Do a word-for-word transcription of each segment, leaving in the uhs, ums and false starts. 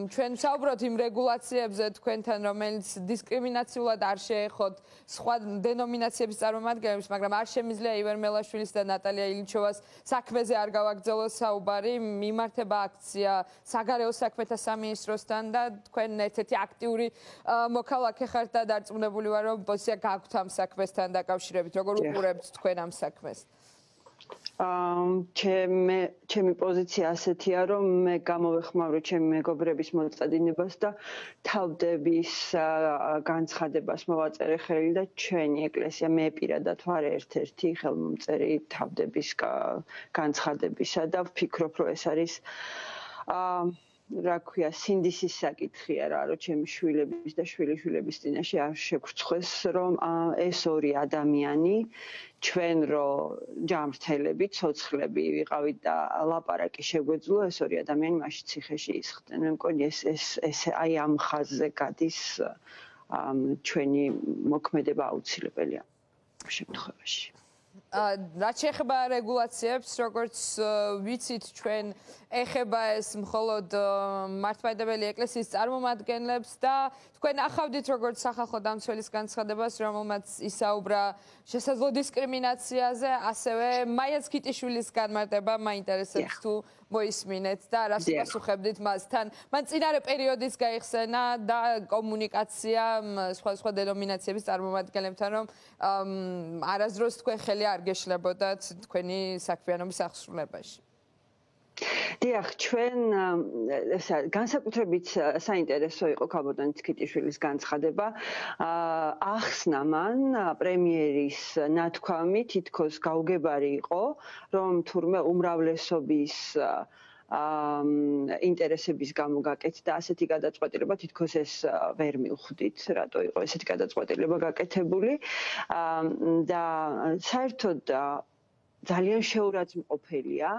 ჩვენ ვსაუბრობთ იმ რეგულაციებზე თქვენთან, რომელიც დისკრიმინაციულად არ შეეხოთ სხვა დენომინაციების წარმომადგენლებს, მაგრამ არ შემიძლია ივერ მელაშვილის და ნატალია ილინჩოვას საქმეზე არ გავაგრძელოს საუბარი, მიმართება აქცია საგარეო საქმეთა სამინისტროსთან და თქვენ ერთ-ერთი აქტიური მოქალაქე ხართ და დარწმუნებული ვარ, რომ პოზიცია გაქვთ ამ საქმესთან დაკავშირებით. როგორ უყურებთ თქვენ ამ საქმეს? ჩემი ჩემი პოზიცია ასეთია, რომ მე გამოვეხმავრე ჩემი მეგობრების მოწადინებას და თავდების განცხადებას მოვაწერე ხელი და ჩვენი ეკლესია მე პირადად ვარ ერთ-ერთი ხელმომწერი თავდების განცხადებისა და ვფიქრობ, რომ ეს არის რა ქვია, სინდისის საკითხია რა, რომ ჩემი შვილების და შვილიშვილების წინაშე არ შეგვრცხვეს, რომ ეს ორი ადამიანი ჩვენ რო ჯამრთელები, ცოცხლები ვიყავით და ლაპარაკი შეგვეძლო, ეს ორი ადამიანი მაშინ ციხეში ისხდნენ. მე მგონი ეს ეს ეს აი ამ ხაზზე გადის ჩვენი მოქმედება აუცილებელია შემთხვევაში. რაც შეეხება რეგულაციებს, როგორც ვიცით, ჩვენ ეხება ეს მხოლოდ მართლმადიდებელი ეკლესიის წარმომადგენლებს და თქვენ ახავდით როგორც სახალხო დამცველის განცხადებას, რომელმაც ისაუბრა შესაძლო დისკრიმინაციაზე, ასევე მაიაც ქიტიშვილის განმარტება მაინტერესებს თუ მოისმინეთ და რას პასუხებდით მასთან. მან წინარე პერიოდის გაიხსენა და კომუნიკაცია სხვადასხვა დენომინაციების წარმომადგენლებთან, რომ არასდროს თქვენ ხელი არ გეშლებოდათ თქვენი საქმიანობის აღსრულებაში. დიახ, ჩვენ განსაკუთრებით საინტერესო იყო ქალბატონი ქიტიშვილის განცხადება. ახსნა მან პრემიერის ნათქვამი თითქოს გაუგებარი იყო, რომ თურმე უმრავლესობის ინტერესების გამო გაკეთდა ასეთი გადაწყვეტილება, თითქოს ეს ვერ მივხვდით, რატო იყო ესეთი გადაწყვეტილება გაკეთებული და საერთოდ ძალიან შეურაცხმყოფელია,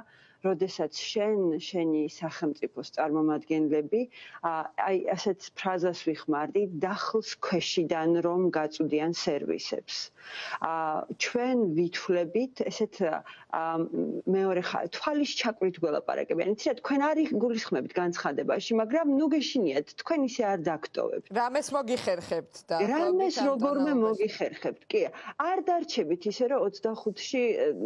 როდესაც შენ, შენი სახელმწიფოს წარმომადგენლები აი ასეთ ფრაზას ვიხმარდი, დახლს ქვეშიდან რომ გაწვდიან სერვისებს. ჩვენ ვითვლებით ესეთ მეორე თვალის ჩაკვით გველაპარაკებიან. იცით, თქვენ არ გულისხმებით განცხადებაში, მაგრამ ნუ გეშინიათ, თქვენ ისე არ დაგტოვებთ. რამეს მოგიხერხებთ და რამეს როგორმე მოგიხერხებთ. კი, არ დარჩებით ისე, რომ ოცდახუთში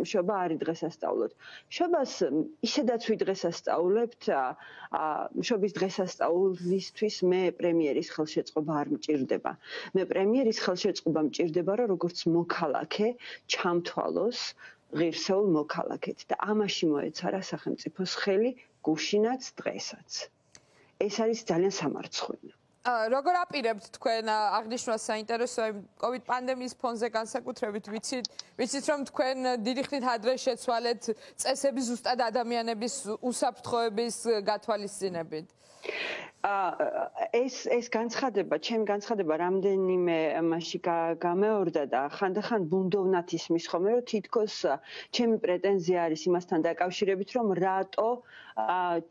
შობა არ დღესასწაულოთ. შობას ისედაც ვიდღესასწაულებთ, შობის დღესასწაულისთვის მე პრემიერის ხელშეწყობა არ მჭირდება. მე პრემიერის ხელშეწყობა მჭირდება, რომ როგორც მოქალაქე ჩამთვალოს ღირსეულ მოქალაქედ და ამაში მოეცარა სახელმწიფოს ხელი გუშინაც დღესაც. ეს არის ძალიან სამარცხვინო. როგორ აპირებთ თქვენ აღნიშნვა საინტერესო კოვიდ პანდემიის ფონზე განსაკუთრებით ვიცით ვიცით რომ თქვენ დიდი ხნით ადრე შეცვალეთ წესების ზუსტად ადამიანების უსაფრთხოების გათვალისწინებით. ეს ეს განცხადება, ჩემი განცხადება რამდენიმე მასში გამეორდა და ხანდახან ბუნდოვნად ისმის ხოლმე, რომ თითქოს ჩემი პრეტენზია არის იმასთან დაკავშირებით, რომ რატო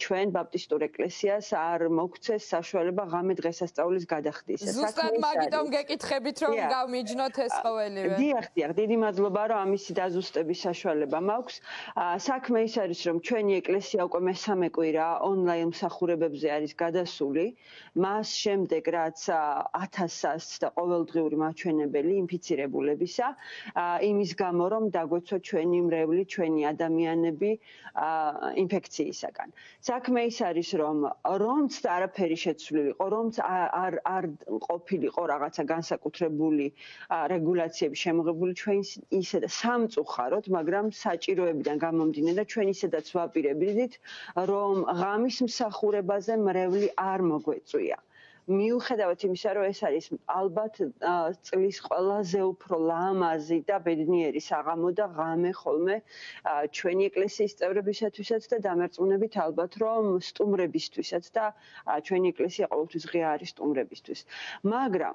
ჩვენ ბაპტისტურ ეკლესიას არ მოგცეს საშუალება ღამე დღესასწაულის გადახდისა. ზუსტად მაგიტომ გეკითხებით, რომ გავმიჯნოთ ეს ყოველივე. დიახ, დიახ, დიდი მადლობა, რომ ამისი დაზუსტების საშუალება მაქვს. საქმე ის არის, რომ ჩვენი ეკლესია უკვე მესამე კვირა ონლაინ მსახურებებზე არის გადასული. მას შემდეგ, რაც ათასას და ყოველდღიური მაჩვენებელი ინფიცირებულებისა, იმის გამო, რომ დაგვეცვა ჩვენი მრევლი, ჩვენი ადამიანები ინფექციისაგან. საქმე ის არის, რომ რომც არაფერი შეცვლილი იყო, რომც არ არ ყოფილიყო რაღაცა განსაკუთრებული რეგულაციები შემოღებული, ჩვენ ისედაც სამწუხაროდ, მაგრამ საჭიროებიდან გამომდინე და ჩვენ ისედაც ვაპირებდით, რომ ღამის მსახურებაზე მრევლი არ მოგვეწვია. მიუხედავად იმისა, რომ ეს არის ალბათ წლის ყველაზე უფრო ლამაზი და ბედნიერი საღამო და ღამე ხოლმე ჩვენი ეკლესიის წევრებისათვისაც და დამერწმუნებით ალბათ, რომ სტუმრებისთვისაც და ჩვენი ეკლესია ყოველთვის ღია არის სტუმრებისთვის. მაგრამ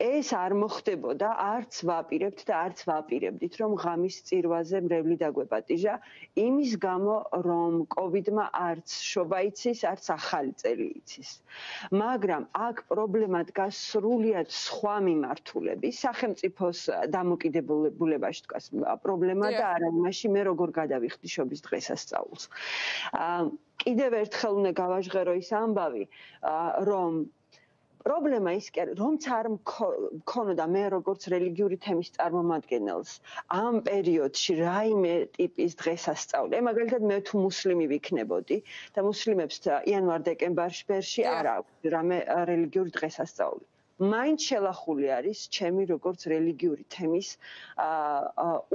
ეს არ მოხდებოდა, არც ვაპირებთ და არც ვაპირებდით, რომ ღამის წირვაზე მრევლი დაგვეპატიჟა, იმის გამო, რომ კოვიდმა არც შობა იცის, არც ახალი წელი იცის. მაგრამ აქ პრობლემა დგას სრულიად სხვა მიმართულების, სახელმწიფოს დამოკიდებულებაში დგას პრობლემა და არა იმაში, მე როგორ გადავიხდი შობის დღესასწაულს. კიდევ ერთხელ უნდა გავაჟღერო ის ამბავი, რომ პრობლემა ის კი არის, რომც არ მქონოდა მე როგორც რელიგიური თემის წარმომადგენელს ამ პერიოდში რაიმე ტიპის დღესასწაული. აი მაგალითად მე თუ მუსლიმი ვიქნებოდი და მუსლიმებს იანვარ-დეკემბერში არ აქვს რამე რელიგიური დღესასწაული. მაინც შელახული არის ჩემი როგორც რელიგიური თემის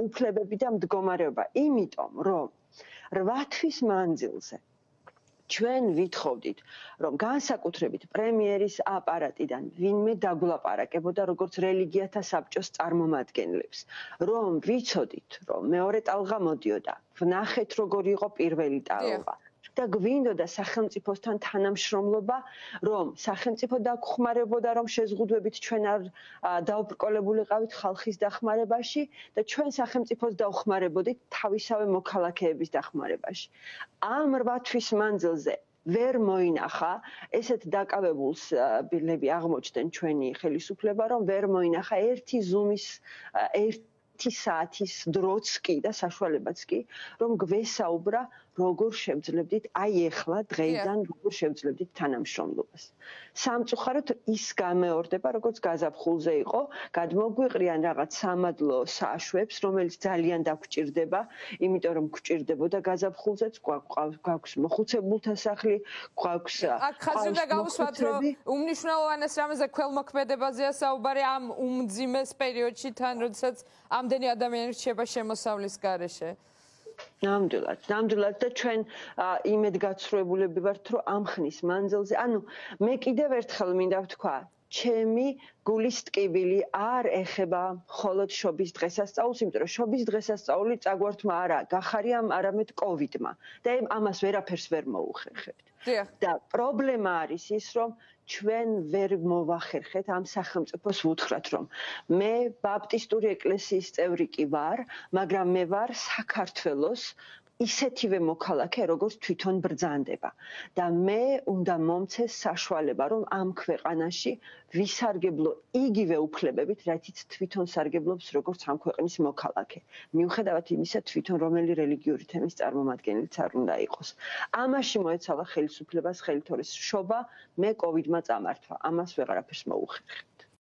უფლებები და მდგომარეობა, იმიტომ რომ რვა თვის მანძილზე ჩვენ ვითხოვდით, რომ განსაკუთრებით პრემიერის აპარატიდან ვინმე დაგვლაპარაკებოდა როგორც რელიგიათა საბჭოს წარმომადგენლებს, რომ ვიცოდით, რომ მეორე ტალღა მოდიოდა, ვნახეთ როგორი იყო პირველი ტალღა. და გვინდოდა სახელმწიფოსთან თანამშრომლობა, რომ სახელმწიფო დაგხმარებოდა, რომ შეზღუდვებით ჩვენ არ დაუბრკოლებულიყავით ხალხის დახმარებაში და ჩვენ სახელმწიფოს დავხმარებოდით თავისავე მოქალაქეების დახმარებაში. ამ რვა თვის მანძილზე ვერ მოინახა, ესეთ დაკავებულს ბილები აღმოჩნდნენ ჩვენი ხელისუფლება, რომ ვერ მოინახა ერთი ზუმის ერთი საათის დროც კი და საშუალებაც კი, რომ გვესაუბრა როგორ შევძლებდით, აი ეხლა დღეიდან როგორ შევძლებდით თანამშრომლობას. სამწუხაროდ ის გამეორდება, როგორც გაზაფხულზე იყო, გადმოგვიყრიან რაღაც სამადლო საშვებს, რომელიც ძალიან დაგვჭირდება, იმიტომ რომ გვჭირდებოდა გაზაფხულზეც, გვაქვს მოხუცებულთა სახლი, გვაქვს აქ ხაზი უნდა გავუსვათ, რომ უმნიშვნელოვანეს რამეზე ქველმოქმედებაზეა საუბარი ამ უმძიმეს პერიოდში თან, როდესაც ამდენი ადამიანი რჩება შემოსავლის გარეშე. ნამდვილად, ნამდვილად და ჩვენ იმედ გაცხრუებულები ვართ, რომ ამ ხნის მანძილზე, ანუ მე კიდევ ერთხელ მინდა ვთქვა, ჩემი გულის ტკივილი არ ეხება მხოლოდ შობის დღესასწაულს, იმიტომ რომ შობის დღესასწაული წაგვართმა არა გახარია, არამედ კოვიდმა და ამას ვერაფერს ვერ მოუხერხებთ. და პრობლემა არის ის, რომ ჩვენ ვერ მოვახერხეთ ამ სახელმწიფოს ვუთხრათ, რომ მე ბაპტისტური ეკლესიის წევრი კი ვარ, მაგრამ მე ვარ საქართველოს ისეთივე მოქალაქე, როგორც თვითონ ბრძანდება. და მე უნდა მომცეს საშუალება, რომ ამ ქვეყანაში ვისარგებლო იგივე უფლებებით, რაითიც თვითონ სარგებლობს, როგორც ამ ქვეყნის მოქალაქე. მიუხედავად იმისა, თვითონ რომელი რელიგიური თემის წარმომადგენელიც არ უნდა იყოს. ამაში მოეცალა ხელისუფლებას ხელითორის შობა, მე კოვიდმა წამართვა. ამას ვეღარაფერს მოუხერხე.